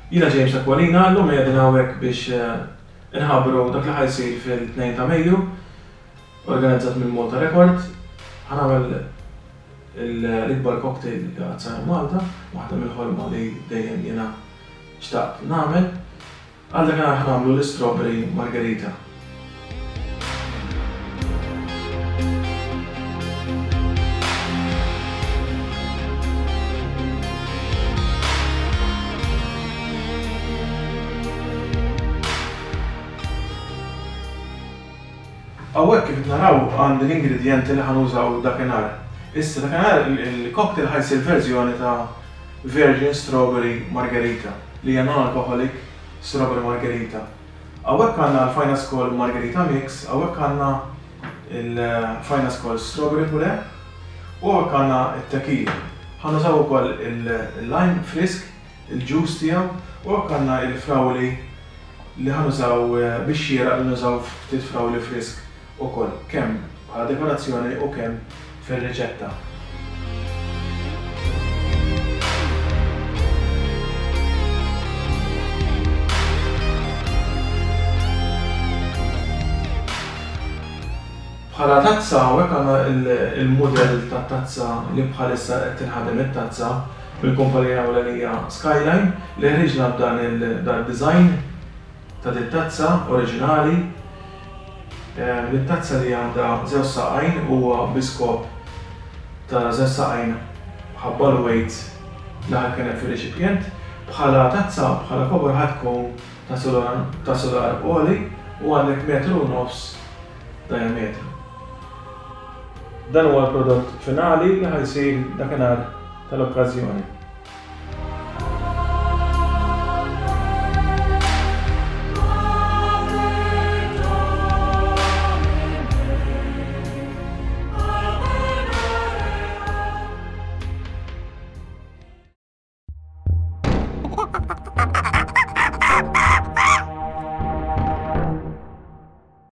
Jiena James Aquilina, llum qegħdin hawnhekk biex inħabbru dak li ħa jsir fil-2 ta' Mejju, organizzat minn Malta Record. Ħa nagħmel l-ikbar cocktail li qatt sar Malta, waħda mill-ħolma li dejjem jiena xtaqt nagħmel. Għal dakinhar ħa nagħmlu l-istrawberry margherita. Hawnhekk kif qed naraw għandi l-ingredjenti li ħa nużaw dakinhar. Issa dakinhar il-cocktail ħa jsir verżjoni ta' Virgin Strawberry Margherita li hija non-alcoholic strawberry margherita. Hawnhekk għandna l-Finascol Margherita Mix, hawnhekk għandna l-Finascol Strawberry Puree u hawnhekk għandna t-tequila. Ħa nużaw ukoll il-lime frisk, il-juice tiegħu u hawnhekk għandna l-frawli li ħa nużaw biex xieraq li nużaw ftit frawli frisk ukoll kemm bħala dekorazzjoni u kemm fir-riċetta. Bħala tazza hawnhekk għandna il-mudell tat-tazza li bħalissa qed tinħadem it-tazza mill-kumpanija ewlenija Skyline li ħriġna b'dan il-design ta' dit-tazza oriġinali. It-tazza li għandha żewġ saqajn huwa bi skop ta' żewġ saqajn ħabba l-weight li ħa jkun hemm fir-reċipjent. Bħala tazza, bħala kobor ħa tkun ta' ta' sular għoli u għandek metru u nofs diametru. Dan huwa l-prodott finali li ħa jsir dakinhar tal-okkażjoni.